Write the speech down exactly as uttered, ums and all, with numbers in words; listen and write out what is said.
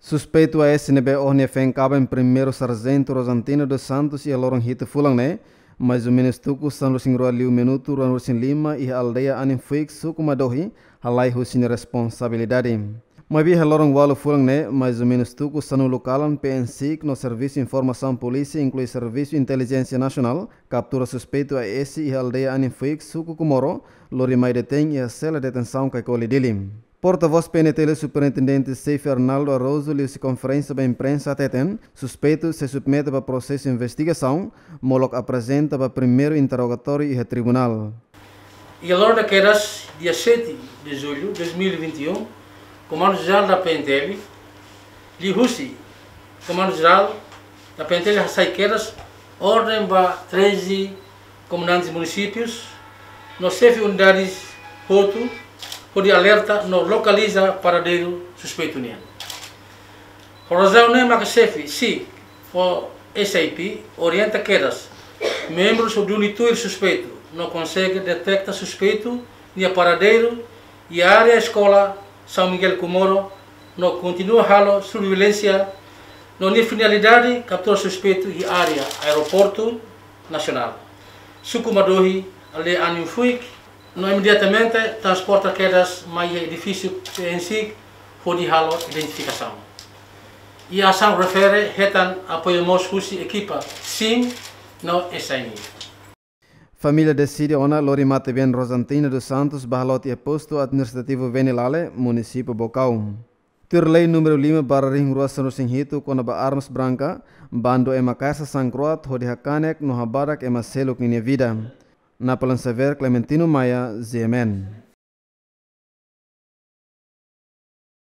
Suspeitu A S ne'ebé ohin nia feen kaben Primeiru Sarjentu Rosantina dos Santos iha loron hitu fulan ne'e, mais ou menus tuku sanulu-resin-rua liu minutu ruanulu-resin-lima iha aldeia Aninfuik, suku Madohi, halai husi nia responsabilidade. Maibé iha loron ualu fulan ne'e, mais ou menus tuku sanulu kalan, P N SIC no Servisu Informasaun Polísia, inklui Servisu Intelijénsia Nasionál, kaptura suspeitu A S iha aldeia Aninfuik, suku Comoro, lori mai detein iha sela detensaun Caicoli, Dili. Portavós P N T L, Superintendente Xefe Arnaldo Araújo, liuhusi konferénsia ba imprensa hateten, suspeitu sei submete ba prosesu investigasaun, molok aprezenta ba primeiru interrogatóriu iha tribunál. Iha loron kedas, dia sete de julho de dois mil e vinte e um, Comando Geral da P N T L, liuhusi Comando Geral da P N T L hasai kedas orden ba treze komandantes munisípius no xefe unidades hotu, hodi alerta no lokaliza paradeiru suspeitu nian. Ho razaun ne'e maka xefe SIC ho S I P orienta kedas membrus hodi duni tuir suspeitu no konsege deteta suspeitu nia paradeiru iha área eskola São Miguel Comoro, no kontinua halo surveilánsia no nia finalidade kaptura suspeitu iha área Aeroportu Nasionál, suku Madohi, aldeia Aninfuik, no imediatamente transporta kedas mai iha edifísiu P N SIC hodi halo identifikasaun. Iha asaun refere hetan apoiu mós husi ekipa SIM no S I N. Família deside ona lori matebian Rosantina dos Santos ba haloot iha Postu Administrativu Venilale, Munisípiu Baucau. Tuir lei númeru lima barra rihun rua sanulu-resin-hitu kona-ba armas branka, bandu ema kasa sangkroat hodi hakanek no habadak ema seluk ninia vida. Napoleão Xavier, Clementino Maia, G M N.